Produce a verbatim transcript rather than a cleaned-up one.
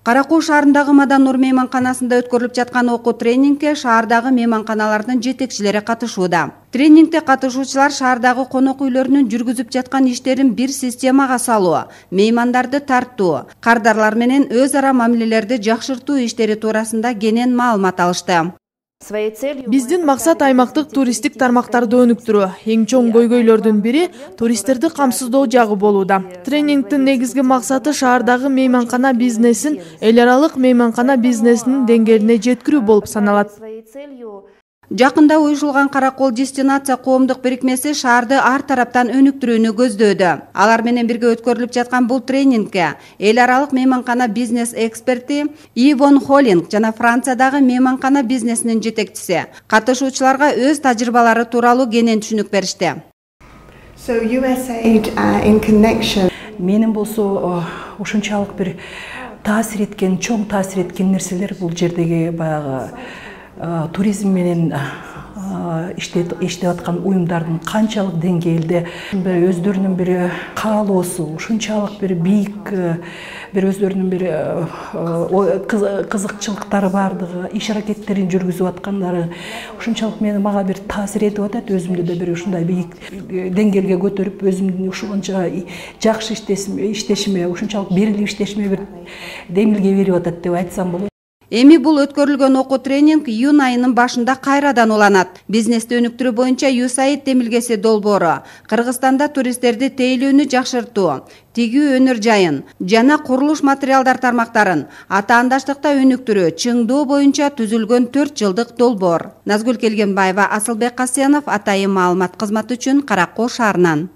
Кара Кол шаарындагы Мадан Нур мейманканасында өткөрүлүп жаткан окуу тренингке шаардагы мейманканалардын жетекчилери катышууда. Тренингте катышуучулар шаардагы конок үйлөрүнүн жүргүзүп жаткан иштерин бир системага салуу, меймандарды тартуу, кардарлар менен өз ара мамилелерди жакшыртуу иштери туурасында кенен маалымат алышты. Биздин максат аймактык туристтик тармактарды өнүктүрүү. Эң чоң көйгөйлөрдүн бири туристтерди камсыздоо жагы болууда. Тренингдин негизги максаты шаардагы мейманкана бизнесин эл аралык мейманкана бизнесинин деңгээлине жеткирүү болуп саналат. Жакында уюшулган Кара Кол дестинация коомдук бирикмеси шаарды ар тараптан өнүктүрүүнү көздөөдө. Алар менен бирге өткөрүлүп жаткан бул тренингке эл аралык мейманкана бизнес эксперти Ивон Холлинг жана Франциядагы мейманкана бизнесинин жетекчиси катышуучуларга өз тажрыйбалары тууралуу кенен түшүнүк беришти. Менин болсо ушунчалык бир таасир эткен, чоң таасир эткен нерселер бул жердеги баягы туризм менен иштеп аткан уюмдардын канчалык деңгээлде өздөрүнүн бир каалоосу, ушунчалык бир бийик, бир өздөрүнүн бир кызыкчылыктары бардыгы, иш аракеттерин жүргүзүп аткандары ушунчалык мени мага бир таасир этип атат. Өзүмдү да бир ушундай бийик деңгээлге көтөрүп, өзүмдүн ушунча жакшы иштешиме, ушунчалык берилип иштешиме бир демилге берип атат деп айтсам болот. Эми бул өткөрүлгөн окуу тренинг июнь айынын башында кайрадан уланат. Бизнести өнүктүрүү боюнча ю эс эй ай ди демилгеси долбоору Кыргызстанда туристтерди тейлөөнү жакшыртуу, тигүү өнөр жайын жана курулуш материалдар тармактарын атаандаштыкта өнүктүрүү чыңдоо боюнча түзүлгөн төрт жылдык долбоор. Назгүл Келгенбаева, Асылбек Касенов, Атайын маалымат кызматы үчүн Кара Кол шаарынан.